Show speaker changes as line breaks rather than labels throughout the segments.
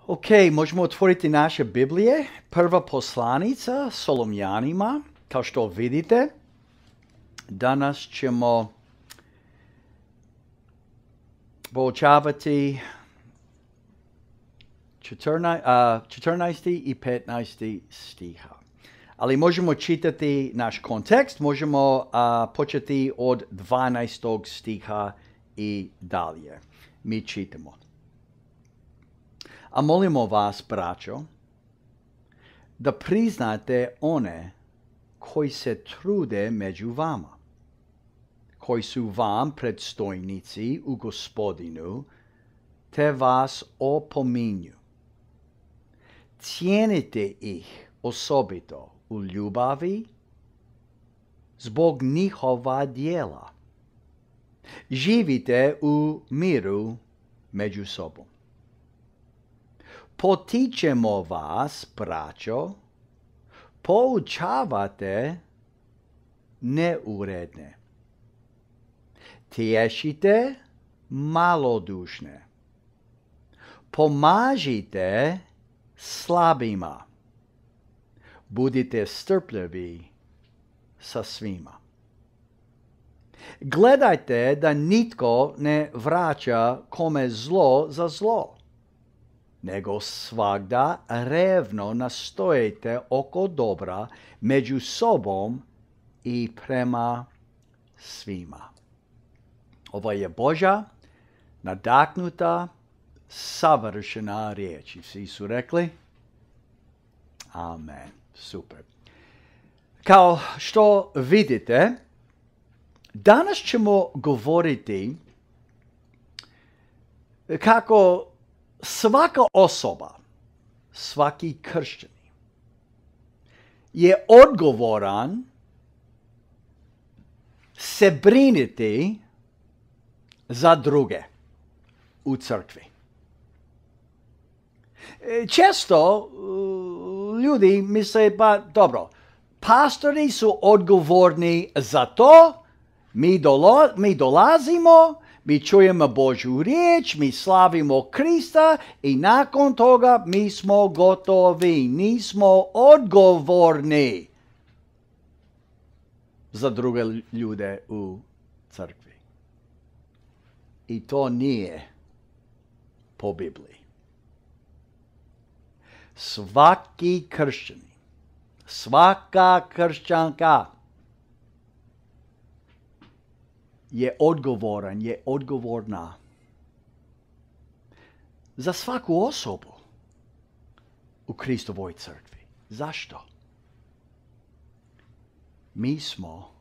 Ok, možemo otvoriti naše Biblije. Prva poslanica Solomljanima. Kao što vidite, danas ćemo proučavati 14. i 15. stiha. Ali možemo čitati naš kontekst, možemo početi od 12. stiha i dalje. Mi čitamo. A molimo vas, braćo, da priznate one koji se trude među vama, koji su vam predstojnici u Gospodinu, te vas opominju. Cijenite ih osobito u ljubavi zbog njihova djela. Živite u miru među sobom. Potičemo vas, braćo, poučavate neuredne. Tješite malodušne. Pomažite slabima. Budite strpljivi sa svima. Gledajte da nitko ne vraća kome zlo za zlo, nego svagda revno nastojite oko dobra među sobom i prema svima. Ovo je Božja, nadahnuta, savršena riječ. Svi su rekli? Amen. Super. Kao što vidite, danas ćemo govoriti kako svaka osoba, svaki kršćanin je odgovoran se brinuti za druge u crkvi. Često ljudi misle, pa dobro, pastori su odgovorni za to, mi dolazimo, mi čujemo Božju riječ, mi slavimo Krista i nakon toga mi smo gotovi. Nismo odgovorni za druge ljude u crkvi. I to nije po Bibliji. Svaki kršćanin, svaka kršćanka je odgovoran, je odgovorna za svaku osobu u Kristovoj crkvi. Zašto? Mi smo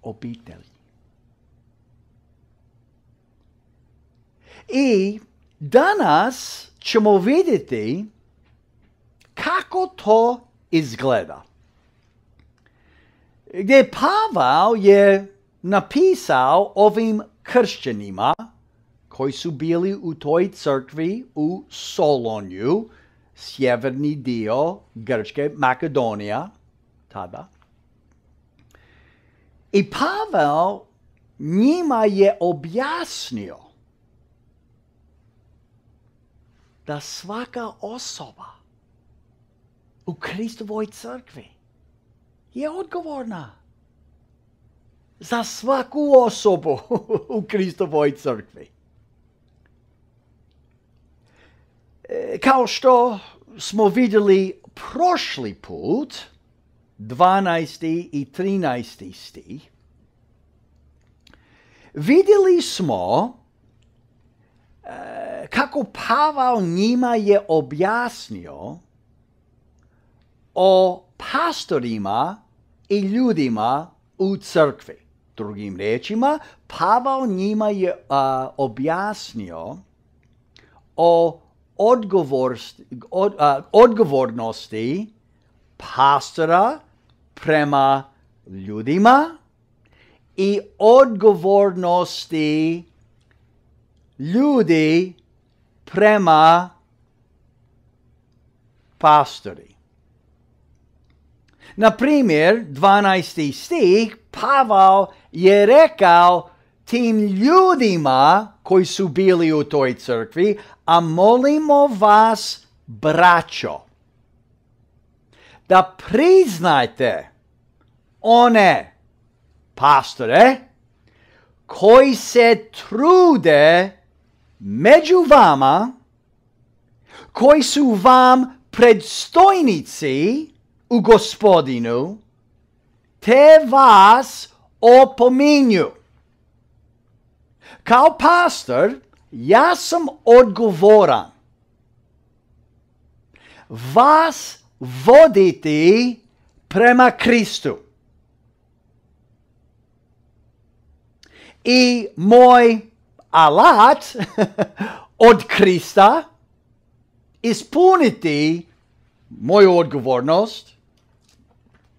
obitelj. I danas ćemo vidjeti kako to izgleda. Gdje Pavao je napisao ovim kršćanima koji su bili u toj crkvi u Solonju, sjeverni dio Grčke, Makedonija, tada. I Pavao njima je objasnio da svaka osoba u Kristovoj crkvi je odgovorna za svaku osobu u Kristovoj crkvi. Kao što smo vidjeli prošli put, 12. i 13. stih, vidjeli smo kako Pavao njima je objasnio o pastorima i ljudima u crkvi. Drugim riječima, Pavao njima je objasnio o odgovornosti pastora prema ljudima i odgovornosti ljudi prema pastori. Na primjer, 12. stih, Pavao je rekao, tim ljudima koji su bili u toj crkvi, a molimo vas, braćo, da priznajte one pastore koji se trude među vama, koji su vam predstojnici u Gospodinu, te vas opominju. Kao pastor, ja sam odgovoran vas voditi prema Kristu. I moj alat od Krista ispuniti moju odgovornost,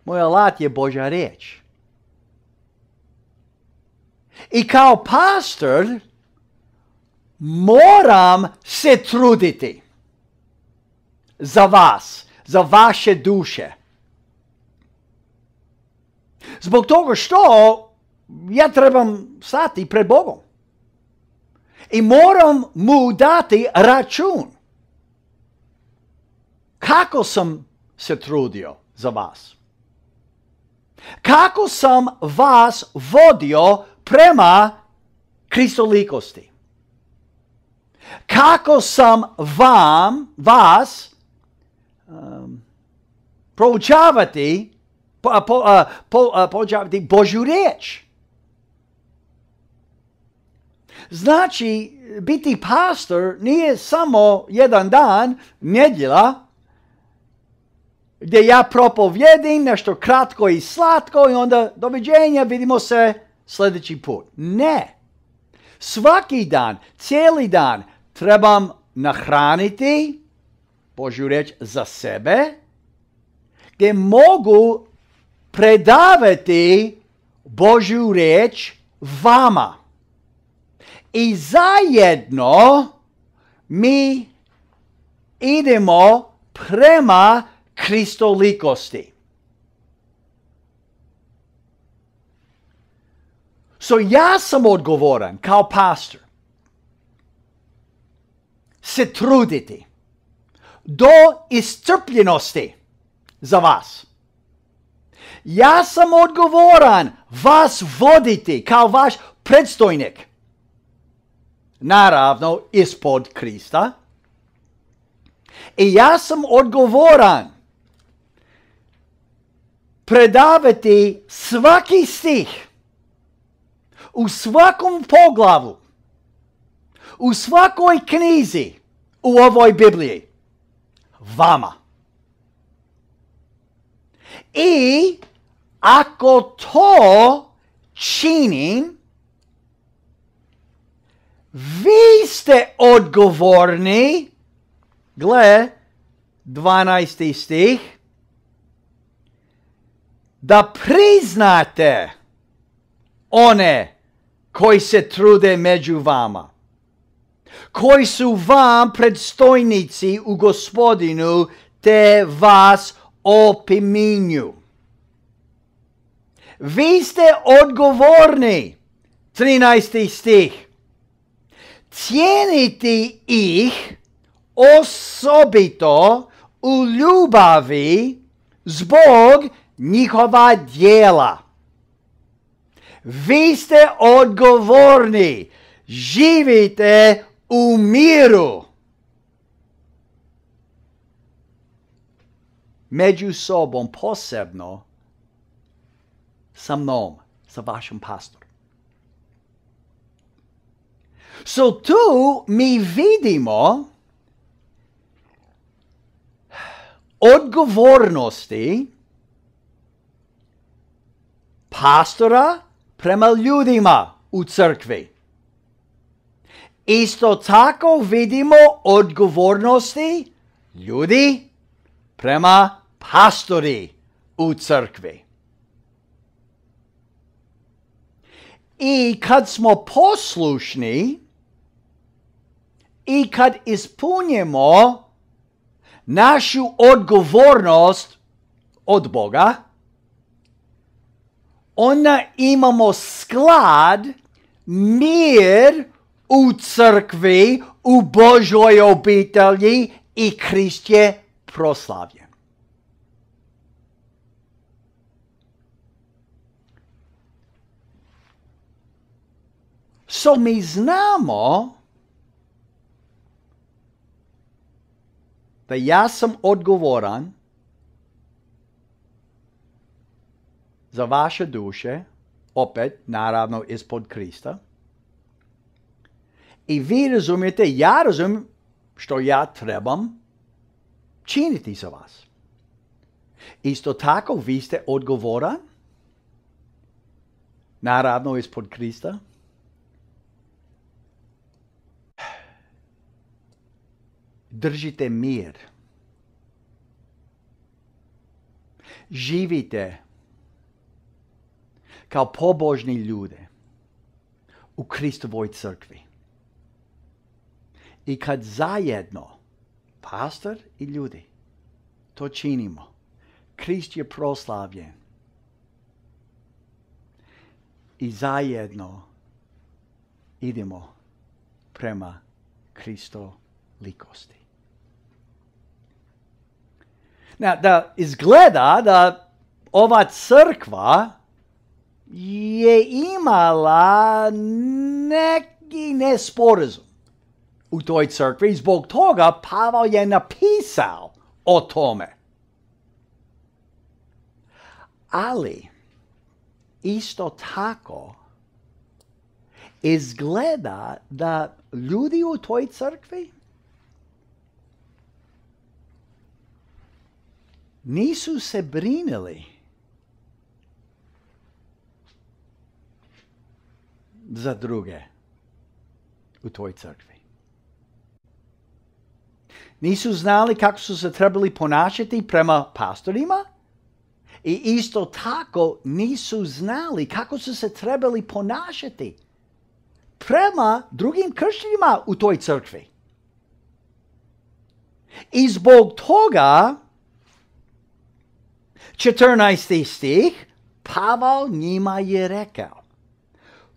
moj alat je Božja riječ. I kao pastor moram se truditi za vas, za vaše duše. Zbog toga što ja trebam stati pred Bogom. I moram mu dati račun. Kako sam se trudio za vas? Kako sam vas vodio prema kristolikosti? Kako sam vas proučavati Božju riječ? Znači, biti pastor nije samo jedan dan, nedjelja, gdje ja propovjedim nešto kratko i slatko i onda doviđenja, vidimo se sljedeći put. Ne. Svaki dan, cijeli dan trebam nahraniti Božju riječ za sebe, gdje mogu predavati Božju riječ vama. I zajedno mi idemo prema kristolikosti. So ja sam odgovoran kao pastor se truditi do iscrpljenosti za vas. Ja sam odgovoran vas voditi kao vaš predstojnik. Naravno, ispod Krista. I ja sam odgovoran predavati svaki stih u svakom poglavu, u svakoj knjizi u ovoj Bibliji vama. I ako to činim, vi ste odgovorni, gle, 12. stih, da priznate one koji se trude među vama, koji su vam predstojnici u Gospodinu, te vas opominju. Vi ste odgovorni, 13. stih, cijeniti ih osobito u ljubavi zbog njihova djela. Vi ste odgovorni, živite u miru među sobom, posebno sa mnom, sa vašim pastorom. So tu mi vidimo odgovornosti pastora prema ljudima u crkvi. Isto tako vidimo odgovornosti ljudi prema pastori u crkvi. I kad smo poslušni i kad ispunjemo našu odgovornost od Boga, onda imamo sklad mir u crkvi, u Božoj obitelji i Krist je proslavljen. So mi znamo da ja sam odgovoran za vaše duše, opet, naravno, ispod Krista. I vi razumijete, ja razumijem što ja trebam činiti za vas. Isto tako, vi ste odgovoran, naravno, ispod Krista. Držite mir. Živite kao pobožni ljude u Kristovoj crkvi. I kad zajedno, pastor i ljudi, to činimo, Krist je proslavljen. I zajedno idemo prema Kristolikosti. Da izgleda da ova crkva je imala neki nesporazum u toj crkvi. Zbog toga Pavel je napisao o tome. Ali isto tako izgleda da ljudi u toj crkvi nisu se brinuli za druge u toj crkvi. Nisu znali kako su se trebali ponašati prema pastorima i isto tako nisu znali kako su se trebali ponašati prema drugim kršćanima u toj crkvi. I zbog toga 14. stih, Pavel njima je rekao: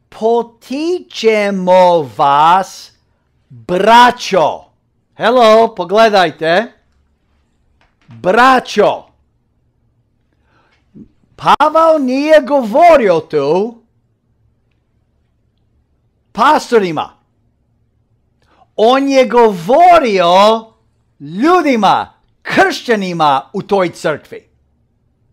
potičemo vas, braćo. Hello, pogledajte. Braćo. Pavel nije govorio tu pastorima. On je govorio ljudima, kršćanima u toj crkvi.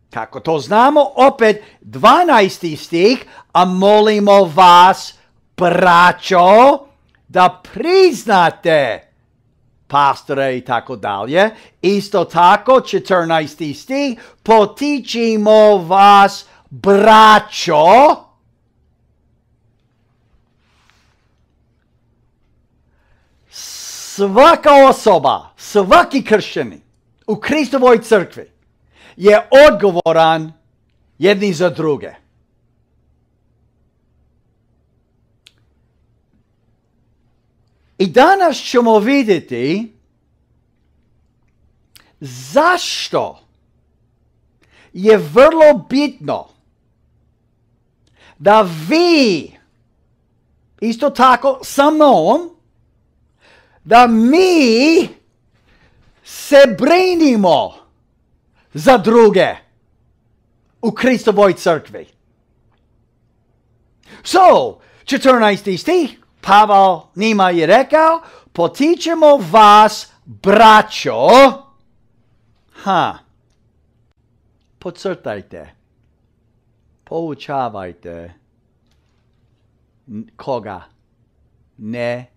Kako to znamo? Opet 12. stih, a molimo vas, braćo, da priznate pastore i tako dalje. Isto tako, 14. stih, potičimo vas, braćo, svaka osoba, svaki kršćanin u Kristovoj crkvi je odgovoran jedni za druge. I danas ćemo vidjeti zašto je vrlo bitno da vi, isto tako sa mnom, da mi se brinimo za druge u Kristovoj crkvi. So, 14. stih, Pavel njima je rekao, potičemo vas, braćo, podcrtajte, poučavajte koga? Neuredne.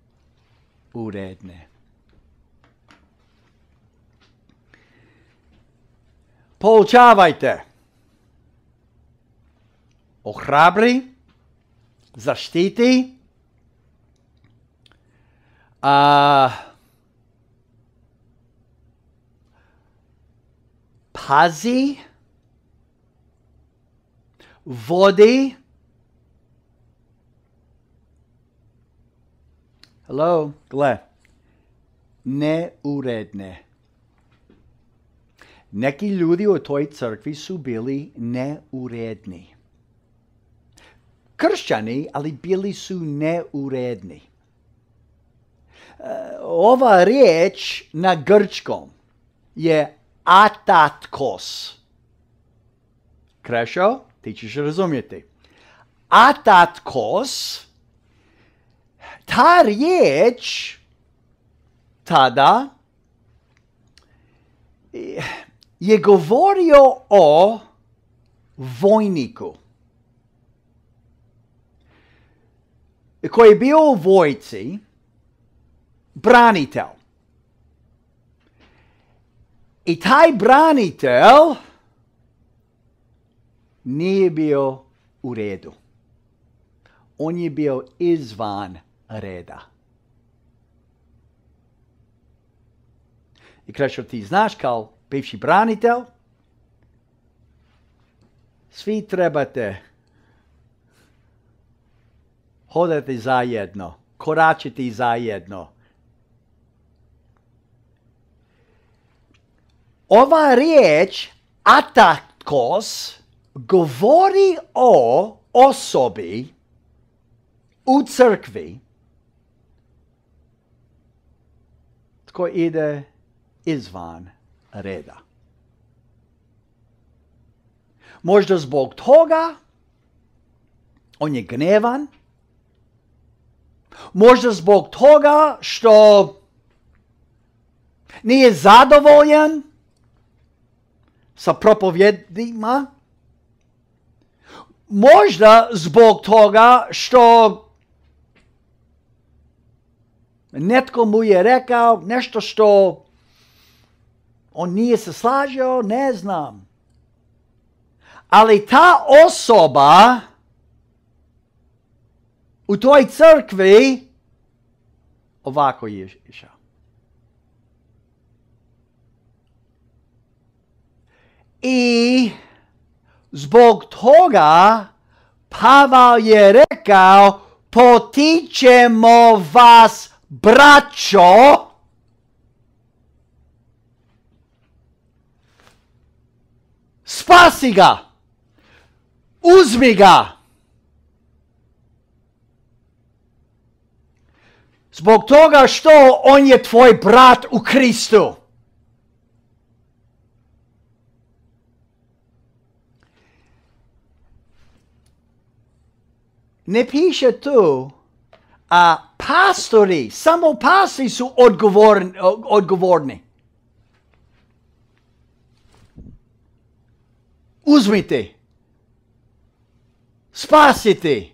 Poučavajte. Ohrabri, zaštiti, pazi, vodi. Hello, gle. Neuredne. Neki ljudi u toj crkvi su bili neuredni. kršćani, ali bili su neuredni. Ova riječ na grčkom je atatkos. Krešo, ti ćeš razumjeti. Atatkos, ta riječ tada je govorio o vojniku koji je bio u vojci, branitelj. I taj branitelj nije bio u redu. On je bio izvan reda. I Krešo, ti znaš kao bivši branitelj, svi trebate hodati zajedno, koračiti zajedno. Ova riječ atatkos govori o osobi u crkvi tko ide izvan reda. Možda zbog toga on je gnevan, možda zbog toga što nije zadovoljan sa propovjedima, možda zbog toga što netko mu je rekao nešto što on nije se slažio, ne znam. Ali ta osoba u toj crkvi ovako je išao. I zbog toga Pavel je rekao, potičemo vas, braćo, spasi ga, uzmi ga. Zbog toga što on je tvoj brat u Kristu. Ne piše tu, a pastori, samo pastori su odgovorni. Uzmite, spasite,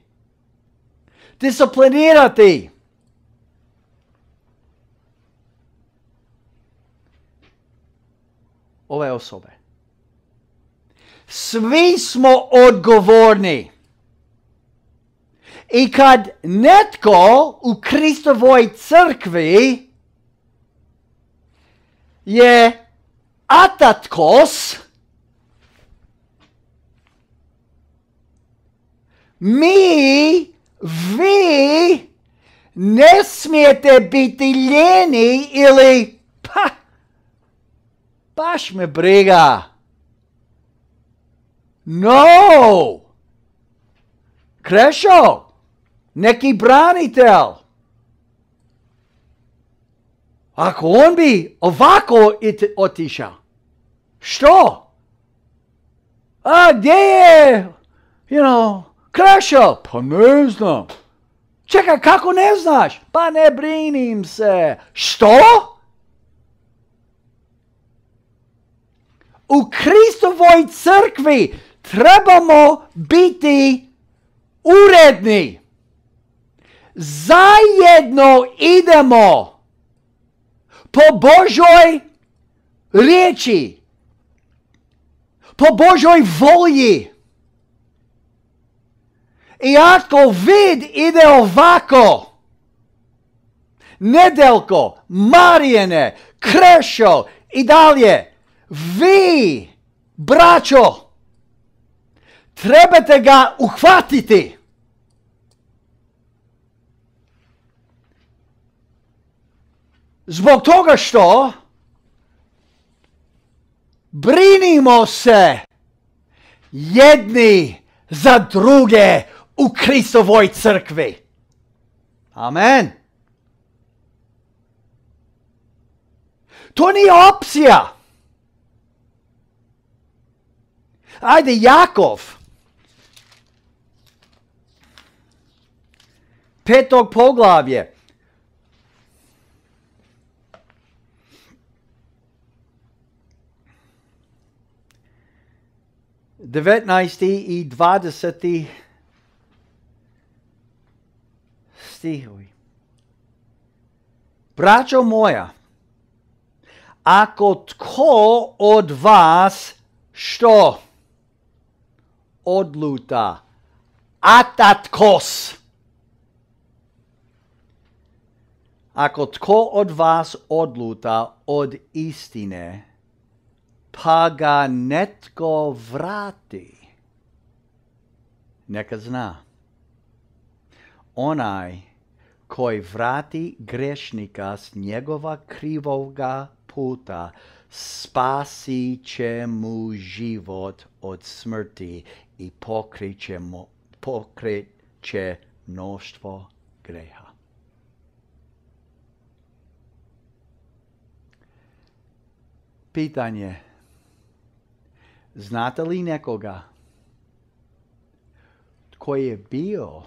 disciplinirate. Ove osobe. Svi smo odgovorni. I kad netko u Kristovoj crkvi je atatkos, vi ne smijete biti ljeni ili baš me briga. No! Krešo, neki branitelj. Ako on bi ovako otišao, što? A gdje je, Krešo? Pa ne znam. Čekaj, kako ne znaš? Pa ne brinim se. Što? U Kristovoj crkvi trebamo biti uredni. Zajedno idemo po Božoj riječi, po Božoj volji. I ako vid ide ovako, Nedeljko, Marijane, Krešo i dalje, vi, braćo, trebate ga uhvatiti. Zbog toga što brinimo se jedni za druge u Kristovoj crkvi. Amen. To nije opcija. Ajde, Jakov. 5. poglavlje. 19. i 20. stihovi. Braćo moja, ako tko od vas što odluta, atatkos. Ako tko od vas odluta od istine, pa ga netko vrati, neka zna. Onaj koji vrati grešnika s njegova krivoga puta, spasit će mu život od smrti i pokreće mnoštvo greha. Pitanje. Znate li nekoga koji je bio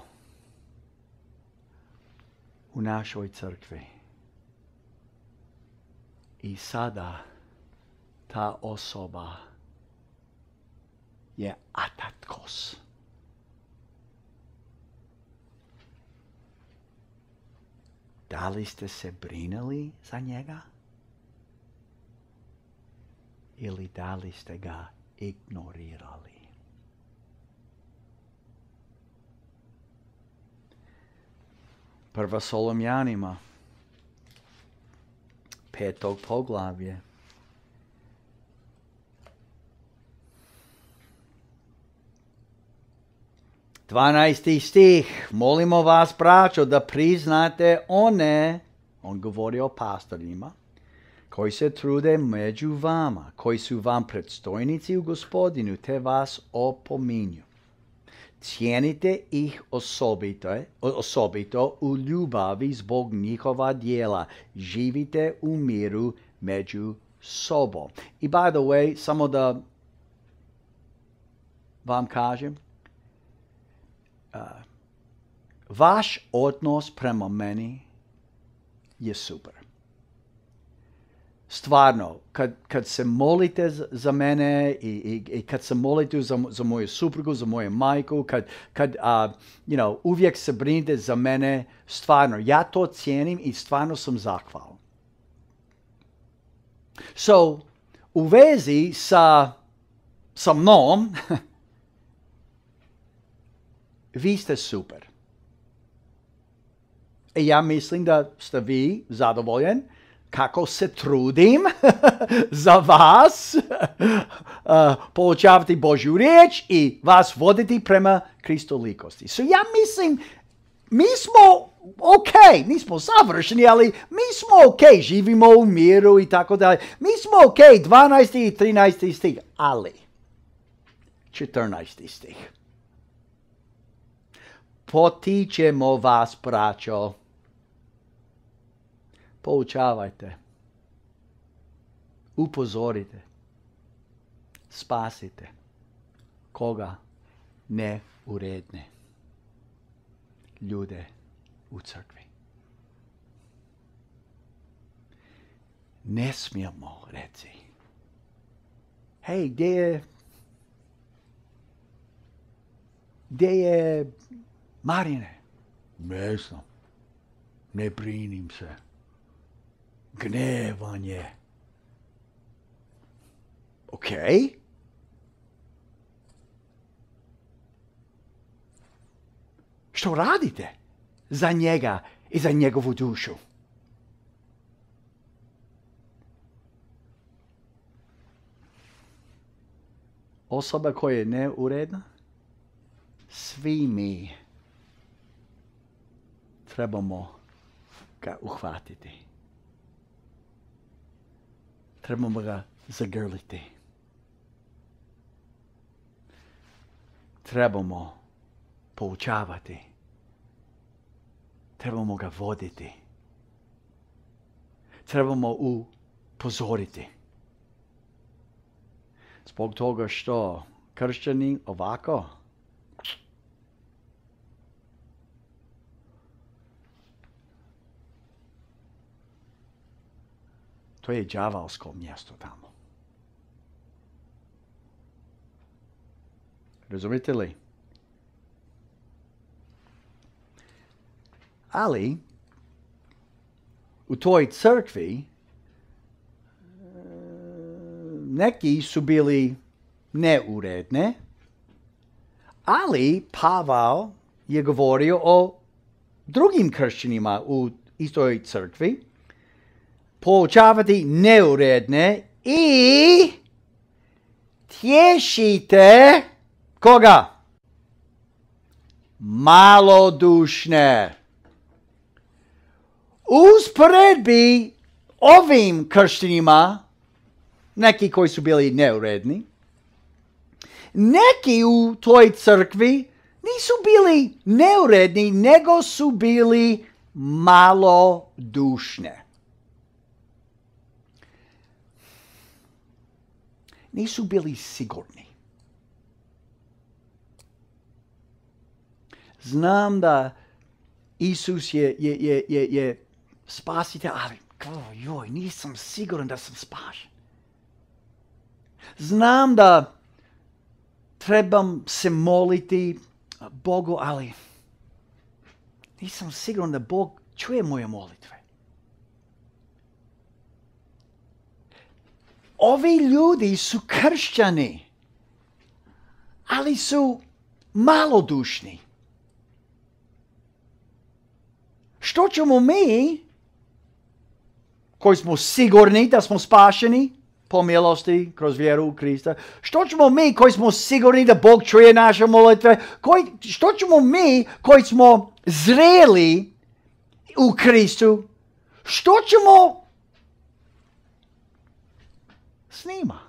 u našoj crkvi i sada ta osoba je atatkos? Da li ste se brinuli za njega? Ili da li ste ga ignorirali? Prva Solomjanima, 5. poglavlje. Dvanaesti stih. Molimo vas, braćo, da priznate one, on govori o pastorima, koji se trude među vama, koji su vam predstojnici u Gospodinu, te vas opominju. Cijenite ih osobito u ljubavi zbog njihova djela. Živite u miru među sobom. I by the way, samo da vam kažem, vaš odnos prema meni je super. Stvarno, kad se molite za mene i kad se molite za moju suprugu, za moju majku, kad uvijek se brinete za mene, stvarno, ja to cijenim i stvarno sam zahvalan. So, u vezi sa mnom, vi ste super. I ja mislim da ste vi zadovoljen kako se trudim za vas poučavati Božju riječ i vas voditi prema kristolikosti. So ja mislim, mi smo ok, nismo savršeni, ali mi smo ok, živimo u miru i tako dalje. Mi smo ok, 12. i 13. stih, ali 14. stih. Potičemo vas, braćo, poučavajte, upozorite, spasite koga? Neuredne ljude u crkvi. Ne smijemo reći, hej, gdje je Marine? Ne znam, ne brinim se. Gnevanje. Ok. Što radite za njega i za njegovu dušu? Osoba koja je neuredna, svi mi trebamo ga uhvatiti. Trebamo ga zagrliti. Trebamo poučavati. Trebamo ga voditi. Trebamo upozoriti. Zbog toga što kršćani ovako, to je đavolsko mjesto tamo. Razumite li? Ali, u toj crkvi neki su bili neuredne, ali Pavao je govorio o drugim kršćanima u istoj crkvi, poučavati neuredne i tješite koga? Malodušne. Usporedbi ovim kršćanima, neki koji su bili neuredni, neki u toj crkvi nisu bili neuredni, nego su bili malodušne. Nisu bili sigurni. Znam da Isus je spasitelj, ali nisam siguran da sam spašen. Znam da trebam se moliti Bogu, ali nisam siguran da Bog čuje moje molitve. Ovi ljudi su kršćani, ali su malodušni. Što ćemo mi, koji smo sigurni da smo spašeni po milosti kroz vjeru u Krista, što ćemo mi koji smo sigurni da Bog čuje naše molitve, što ćemo mi koji smo zreli u Kristu, što ćemo s njima?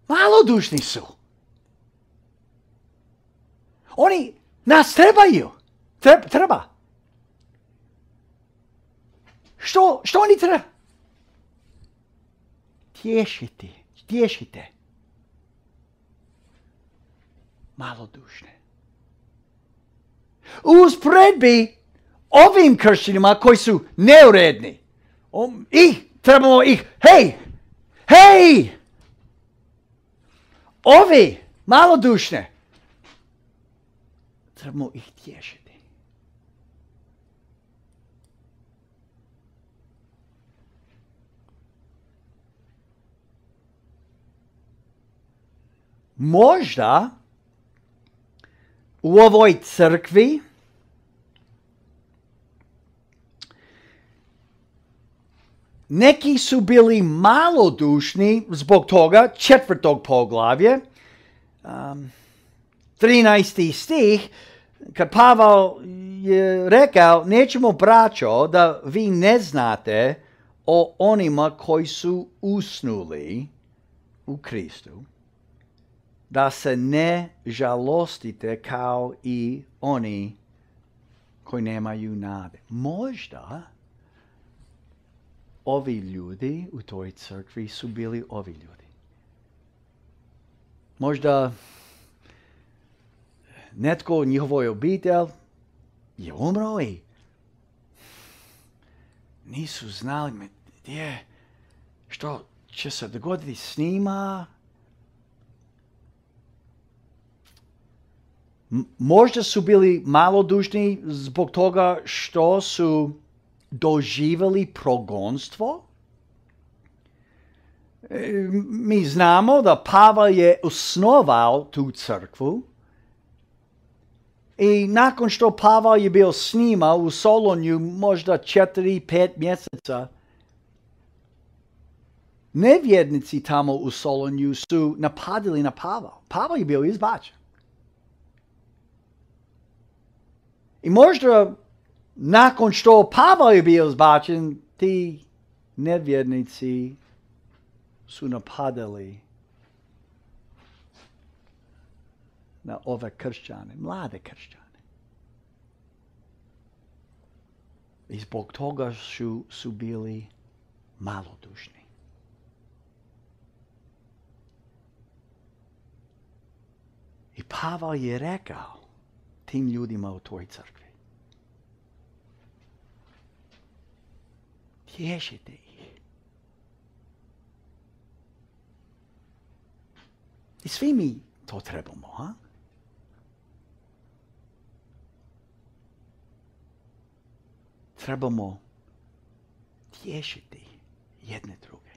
Malodušni su. Oni nas trebaju. Treba. Što oni treba? Tješite. Malodušne. Usporedbi ovim kršćanima koji su neuredni. Trebamo ih, hej! Ovi, malodušne, trebamo ih tješiti. Možda u ovoj crkvi neki su bili malodušni zbog toga, 4. poglavlje, 13. stih, kad Pavao je rekao, nećemo braćo da vi ne znate o onima koji su usnuli u Kristu, da se ne žalostite kao i oni koji nemaju nade. Možda ovi ljudi u toj crkvi su bili ovi ljudi. Možda netko u njihovoj obitelj je umro i nisu znali što će se dogoditi s njima. Možda su bili malodušni zbog toga što su doživjeli progonstvo. Mi znamo da Pavao je osnovao tu crkvu i nakon što Pavao je bio s njima u Solunju možda 4-5 mjeseca, nevjernici tamo u Solunju su napadili na Pavao. Pavao je bio izbačen. I možda nakon što Pavao je bio izbačen, ti nevjernici su napadali na ove kršćane, mlade kršćane. I zbog toga su bili malodušni. I Pavel je rekao tim ljudima u toj crkvi: tješite ih. I svi mi to trebamo, ha? Trebamo tješiti jedne druge.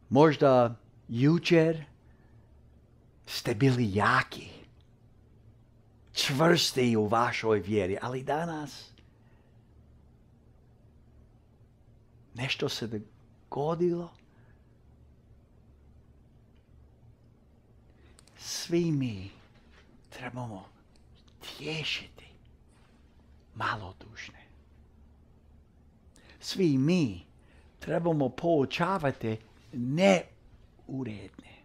Možda jučer ste bili jaki, čvrsti u vašoj vjeri, ali danas nešto se dogodilo. Svi mi trebamo tješiti malodušne. Svi mi trebamo poučavati neuredne.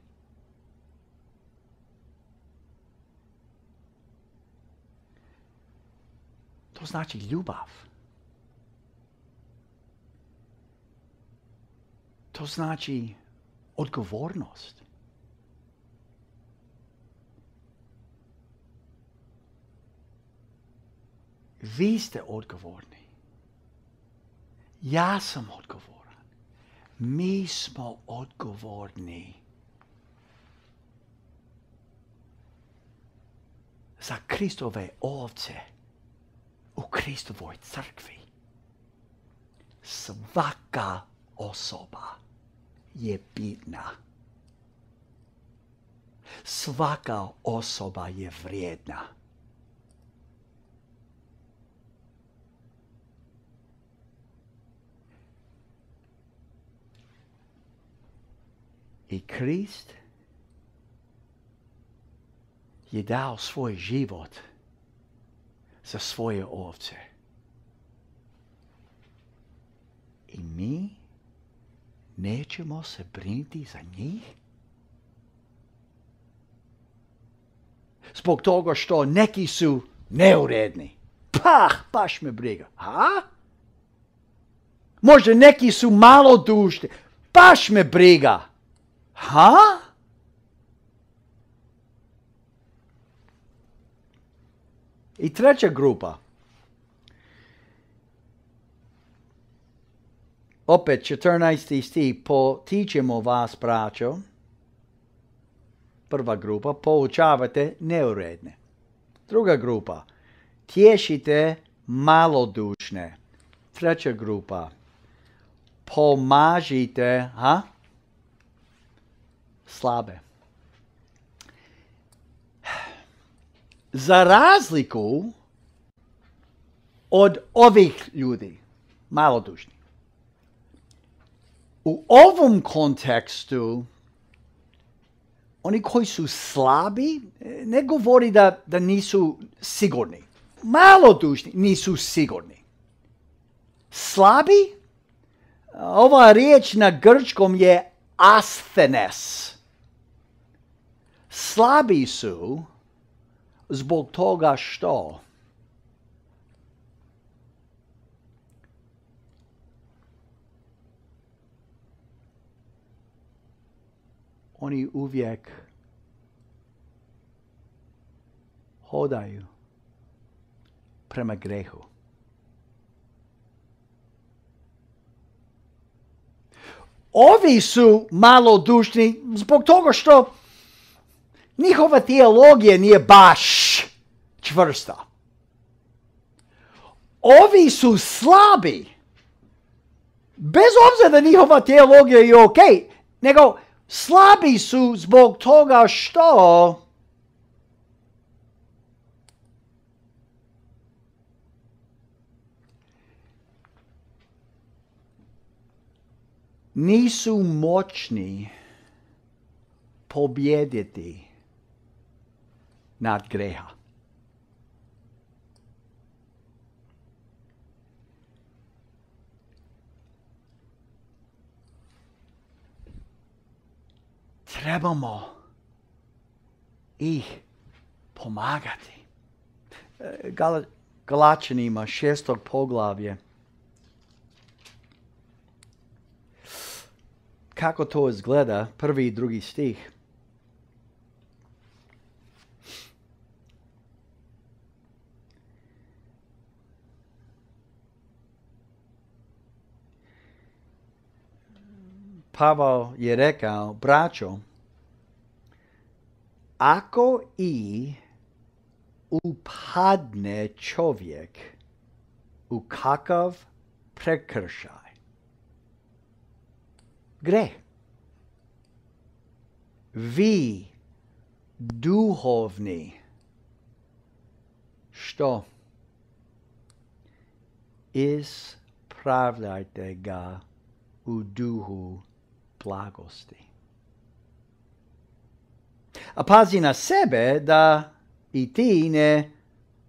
To znači ljubav. To znači odgovornost. Vi ste odgovorni. Ja sam odgovoran. Mi smo odgovorni za Kristove ovce u Kristovoj crkvi. Svaka osoba je bitna. Svaka osoba je vrijedna. I Krist je dao svoj život za svoje ovce. I mi nećemo se brinuti za njih? Zbog toga što neki su neuredni. Baš me briga. Ha? Možda neki su malodušni. Baš me briga. Ha? I treća grupa. Opet 14. stih, potičemo vas, braćo. Prva grupa, poučavate neuredne. Druga grupa, tješite malodušne. Treća grupa, pomažite, slabe. Za razliku od ovih ljudi, malodušni, u ovom kontekstu, oni koji su slabi, ne govori da nisu sigurni. Malodušni nisu sigurni. Slabi, ova riječ na grčkom je asthenes. Slabi su zbog toga što oni uvijek hodaju prema grehu. Ovi su malodušni zbog toga što njihova teologija nije baš čvrsta. Ovi su slabi. Bez obzira da njihova teologija je ok, nego slabi su zbog toga što nisu moćni pobjediti nad greha. trebamo ih pomagati. Galačanima 6. poglavlje. Kako to izgleda? 1. i 2. stih. Pavao je rekao, braćo, ako i upadne čovjek u kakav prekršaj, greh, vi duhovni, što? Ispravljajte ga u duhu blagosti. A pazi na sebe da i ti ne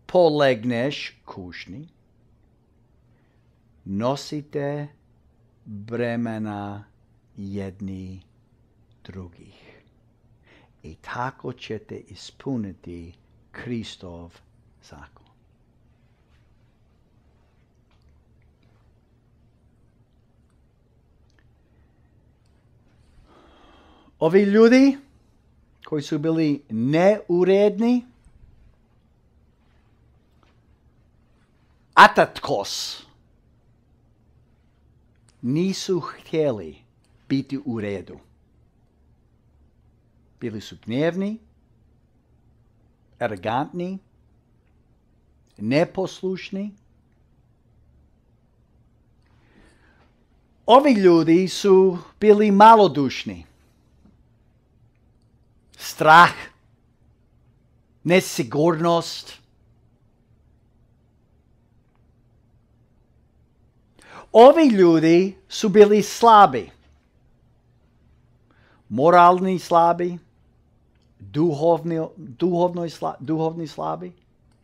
polegneš kušnji. Nosite bremena jedni drugih. I tako ćete ispuniti Kristov zakon. Ovi ljudi koji su bili neuredni, atatkos, nisu htjeli biti u redu. Bili su gnjevni, arogantni, neposlušni. Ovi ljudi su bili malodušni. Strah, nesigurnost. Ovi ljudi su bili slabi. Moralni slabi, duhovni slabi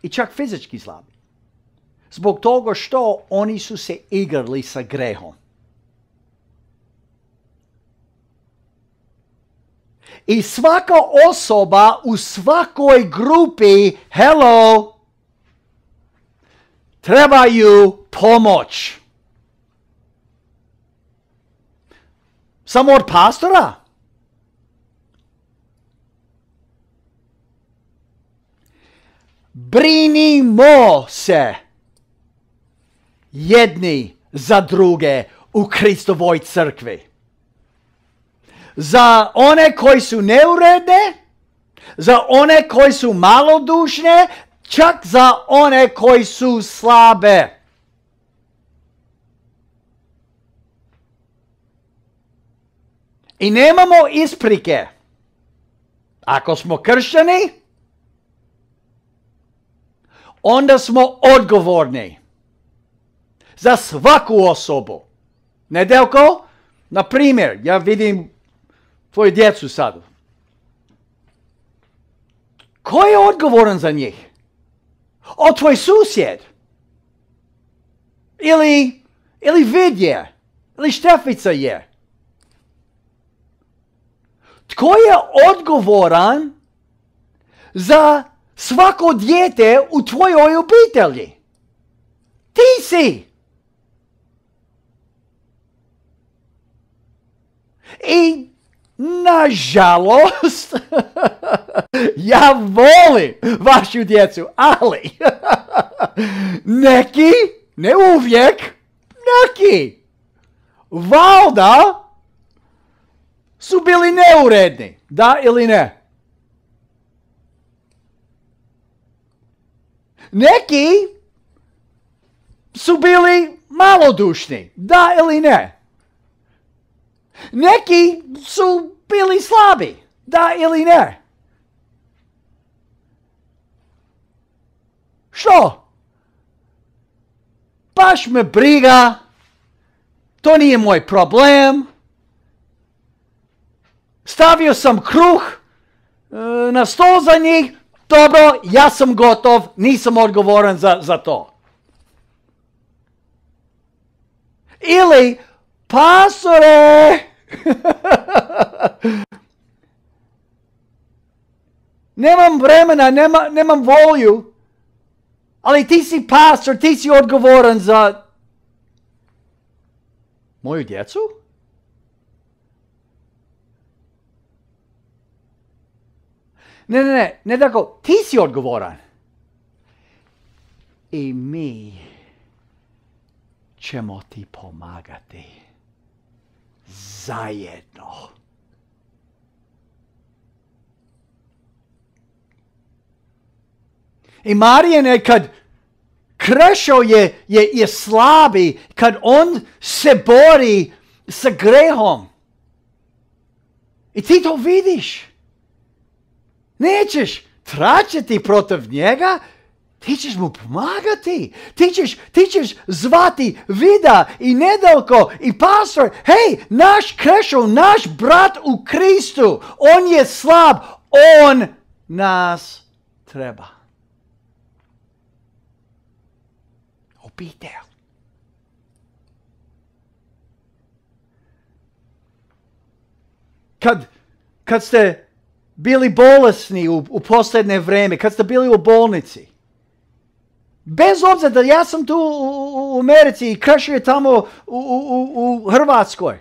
i čak fizički slabi. Zbog toga što oni su se igrali sa grehom. I svaka osoba u svakoj grupi, hello, trebaju pomoć. Samo od pastora? Brinimo se jedni za druge u Kristovoj crkvi. Za one koji su neuredne, za one koji su malodušne, čak za one koji su slabe. I nemamo isprike. Ako smo kršćani, onda smo odgovorni za svaku osobu. Nedeljko, na primjer, ja vidim tvoju djecu sad. Ko je odgovoran za njih? O, tvoj susjed. Ili Vid je. Ili Štefica je. Tko je odgovoran za svako dijete u tvojoj obitelji? Ti si. I nažalost, ja volim vašu djecu, ali neki, ne uvijek, neki, valjda su bili neuredni, da ili ne? Neki su bili malodušni, da ili ne? Neki su bili slabi, da ili ne? Što? Baš me briga, to nije moj problem. Stavio sam kruh na stol za njih, dobro, ja sam gotov, nisam odgovoran za to. Ili, pastore, nemam vremena, nemam volju, ali ti si pastor, ti si odgovoran za moju djecu? Ne tako, ti si odgovoran. I mi ćemo ti pomagati. Zajedno. I Marijan kad Krešo je slabi, kad on se bori sa grehom. I ti to vidiš. Nećeš tračiti protiv njega, ti ćeš mu pomagati. Ti ćeš zvati Vida i Nedeljko i pastor. Hej, naš Krešo, naš brat u Kristu, on je slab, on nas treba. Obitelj. Kad ste bili bolesni u posljednje vrijeme, kad ste bili u bolnici, bez obzira da ja sam tu u Americi i Krešo je tamo u Hrvatskoj,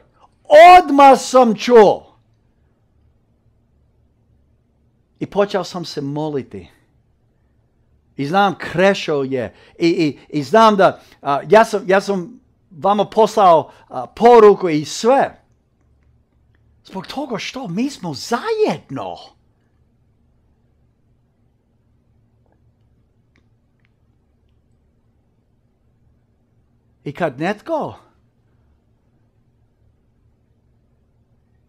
odmah sam čuo. I počeo sam se moliti. I znam Krešo je. I znam da ja sam vama poslao poruku i sve. Zbog toga što mi smo zajedno. I kad netko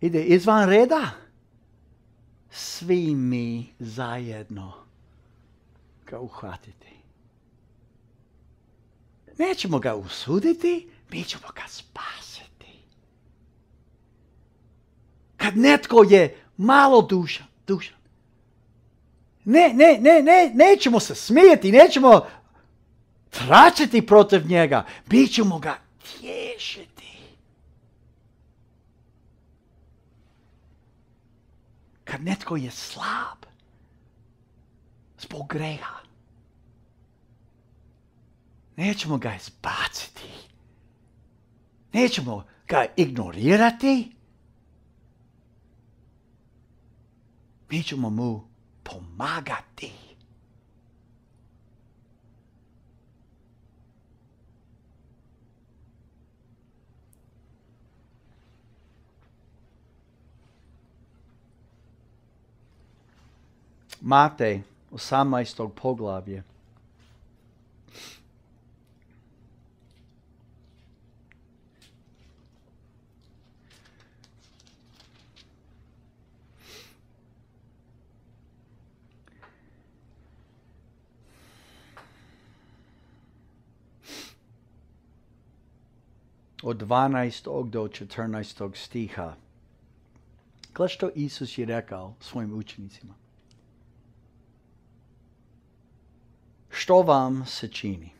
ide izvan reda, svi mi zajedno ga uhvatiti. Nećemo ga usuditi, mi ćemo ga spasiti. Kad netko je malo dušan. Nećemo se smijeti, nećemo tračiti protiv njega, mi ćemo ga tješiti. Kad netko je slab zbog greha, nećemo ga izbaciti. Nećemo ga ignorirati. Mi ćemo mu pomagati. Matej 18. poglavlje. Od 12. do 14. stiha. Gle što Isus je rekao svojim učenicima. Što vam se čini?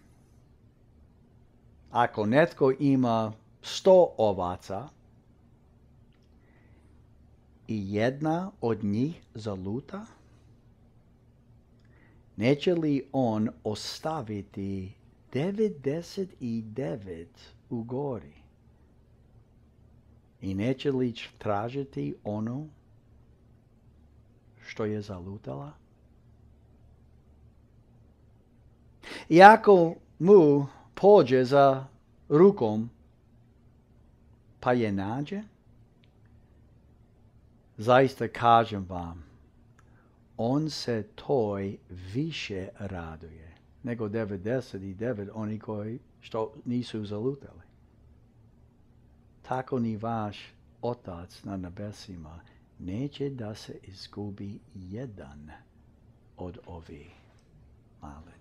Ako netko ima 100 ovaca i jedna od njih zaluta, neće li on ostaviti 99 u gori? I neće li tražiti ono što je zalutala? I ako mu pođe za rukom, pa je nađe, zaista kažem vam, on se toj više raduje nego 99 oni koji što nisu zalutali. Tako ni vaš Otac na nebesima neće da se izgubi jedan od ovih malenih.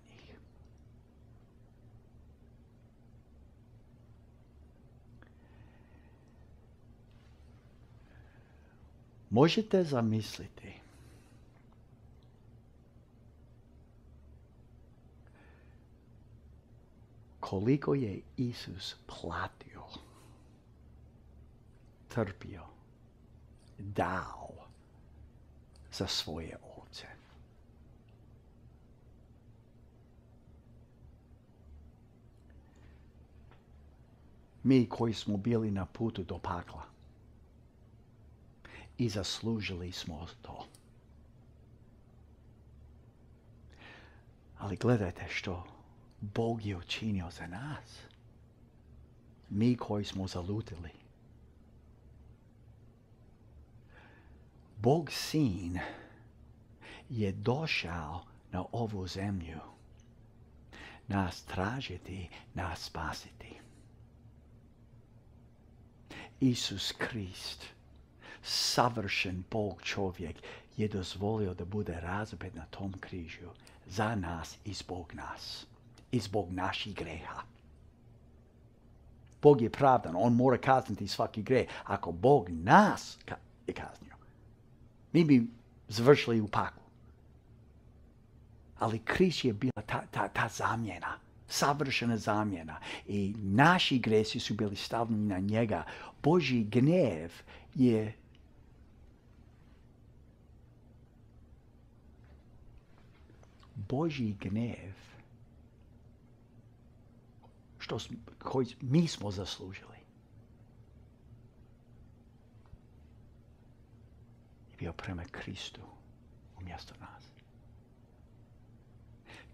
Možete zamisliti koliko je Isus platio, trpio, dao za svoje ovce. mi koji smo bili na putu do pakla. I zaslužili smo to. Ali gledajte što Bog je učinio za nas. Mi koji smo zalutili. Bog Sin je došao na ovu zemlju nas tražiti, nas spasiti. Isus Krist, savršen Bog čovjek, je dozvolio da bude razapet na tom križu za nas i zbog nas. I zbog naših greha. Bog je pravdan, on mora kazniti svaki greh. Ako Bog nas je kaznio, mi bi završili u paklu. Ali Krist je bila ta zamjena, savršena zamjena. I naši gresi su bili stavljeni na njega. Božji gnev je koji mi smo zaslužili. I bio prema Kristu umjesto nas.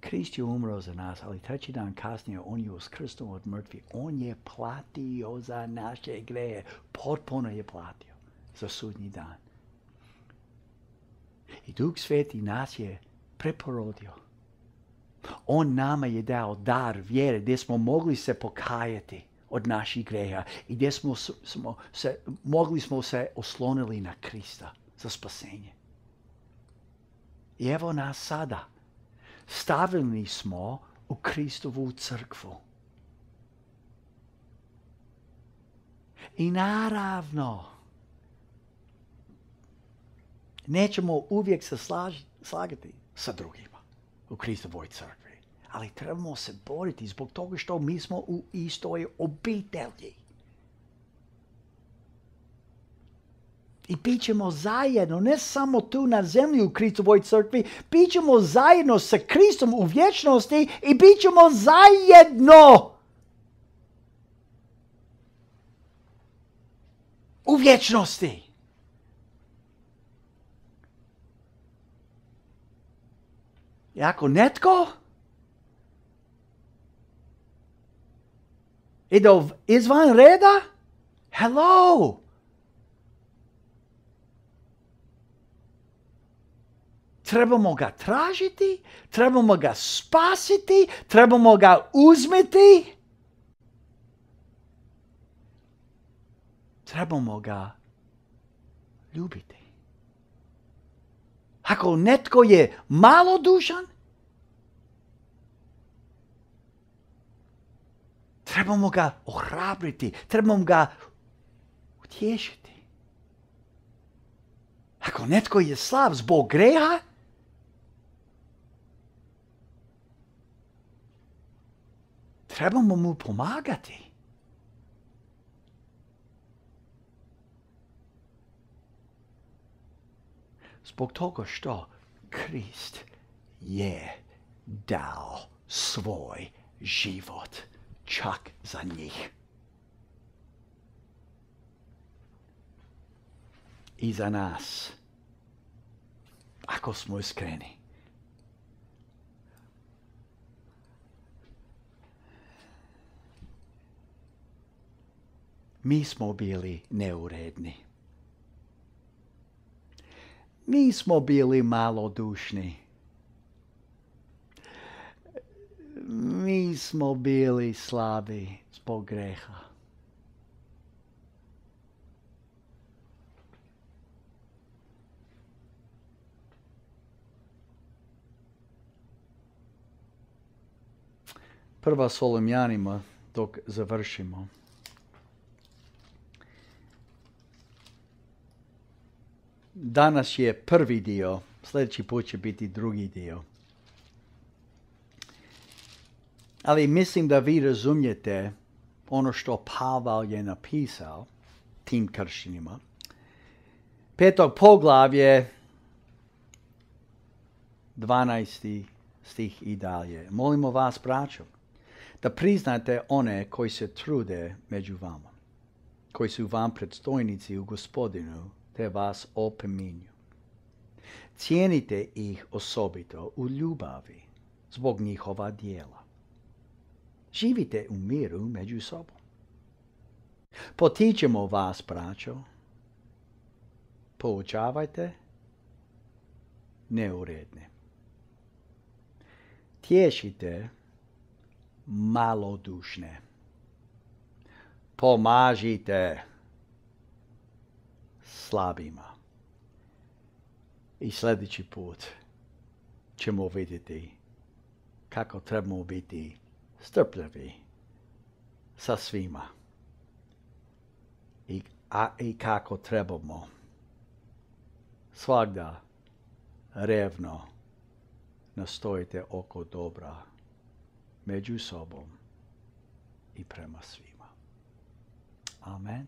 Krist je umro za nas, ali treći dan kasnije on je uskrsnuo od mrtvih. On je platio za naše grehe. Potpuno je platio za sudnji dan. I Duh Sveti nas je preporodio. On nama je dao dar vjere gdje smo mogli se pokajati od naših greha i gdje mogli smo se oslonili na Krista za spasenje. I evo nas sada. Stavljeni smo u Kristovu crkvu. I naravno, nećemo uvijek se slagati sa drugima u Kristovoj crkvi. Ali trebamo se boriti zbog toga što mi smo u istoj obitelji. I bit ćemo zajedno, ne samo tu na zemlji u Kristovoj crkvi, bit ćemo zajedno sa Kristom u vječnosti i bit ćemo zajedno u vječnosti. I ako netko ide izvan reda, hello! Trebamo ga tražiti, trebamo ga spasiti, trebamo ga uzmeti. Trebamo ga ljubiti. Ako netko je malodušan, trebamo ga ohrabriti, trebamo ga utješiti. Ako netko je slab zbog greha, trebamo mu pomagati. Zbog toga što Krist je dao svoj život čak za njih. I za nas, ako smo iskreni. Mi smo bili neuredni. Mi smo bili malodušni. Mi smo bili slabi zbog greha. Prva Solomljanima, dok završimo. Danas je prvi dio, sljedeći put će biti drugi dio. Ali mislim da vi razumijete ono što Pavel je napisao tim kršćanima. 5. poglavlje, 12. stih i dalje. Molimo vas, braćo, da priznate one koji se trude među vama, koji su vam predstojnici u Gospodinu, te vas opominju. Cijenite ih osobito u ljubavi zbog njihova djela. Živite u miru među sobom. Potičemo vas, braćo, poučavajte neuredne. Tješite malodušne. Pomažite slabima. I sljedeći put ćemo vidjeti kako trebamo biti strpljivi sa svima. I kako trebamo svagda revno nastojite oko dobra među sobom i prema svima. Amen.